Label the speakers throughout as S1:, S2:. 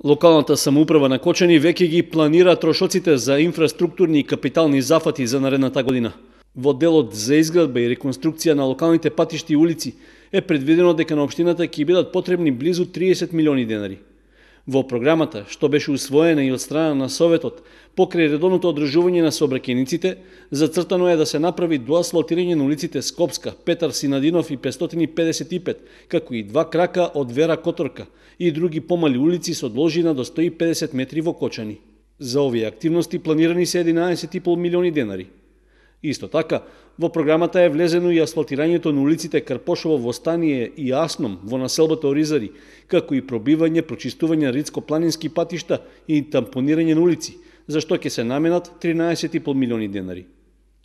S1: Локалната самоуправа на Кочани веќе ги планира трошоците за инфраструктурни и капитални зафати за наредната година. Во делот за изградба и реконструкција на локалните патишти и улици е предвидено дека на општината ќе бидат потребни близу 30 милиони денари. Во програмата, што беше усвоена и од страна на Советот, покрај редовното одржување на сообраќајниците, зацртано е да се направи доасфалтирање на улиците Скопска, Петар Синадинов и 555, како и 2 крака од Вера Которка и други помали улици со должина до 150 метри во Кочани. За овие активности планирани се 11,5 милиони денари. Исто така, во програмата е влезено и асфалтирањето на улиците Карпошово, Востание и Асном во населбата Оризари, како и пробивање, прочистување на ридско-планински патишта и тампонирање на улици, за што ќе се наменат 13,5 милиони денари.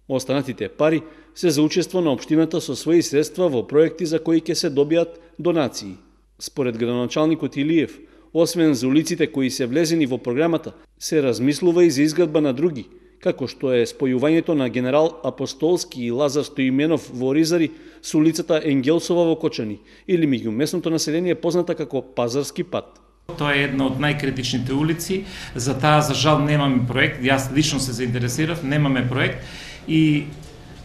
S1: Останатите пари се за учество на општината со своји средства во проекти за кои ќе се добијат донации. Според градоначалникот Илиев, освен за улиците кои се влезени во програмата, се размислува и за изградба на други, како што е спојувањето на Генерал Апостолски и Лазар Стоименов во Оризари со улицата Енгелсова во Кочани или меѓумесното население позната како Пазарски пат.
S2: Тоа е една од најкритичните улици, за таа за жал немаме проект, јас лично се заинтересирав, немаме проект и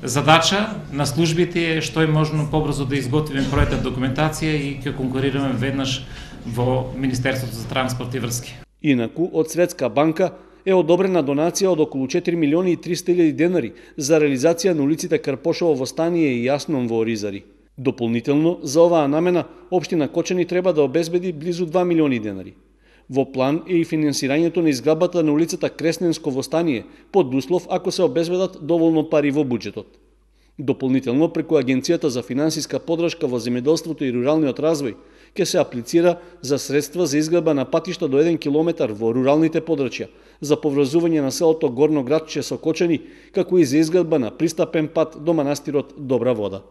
S2: задача на службите е што е можно побрзо да изготвиме проектна документација и ќе конкурираме веднаш во Министерството за транспорт и врски.
S1: Инаку, од Светска банка е одобрена донација од околу 4 милиони и 300 илјади денари за реализација на улиците Карпошово, Востание и Јасном во Оризари. Дополнително, за оваа намена, општина Кочани треба да обезбеди близу 2 милиони денари. Во план е и финансирањето на изградбата на улицата Кресненско во Стание, под услов ако се обезбедат доволно пари во буџетот. Дополнително, преку Агенцијата за финансиска поддршка во земјоделството и руралниот развој, ќе се аплицира за средства за изградба на патишта до 1 километар во руралните подрачја, за поврзување на селото Горно Градче со Кочани, како и за изградба на пристапен пат до манастирот Добра вода.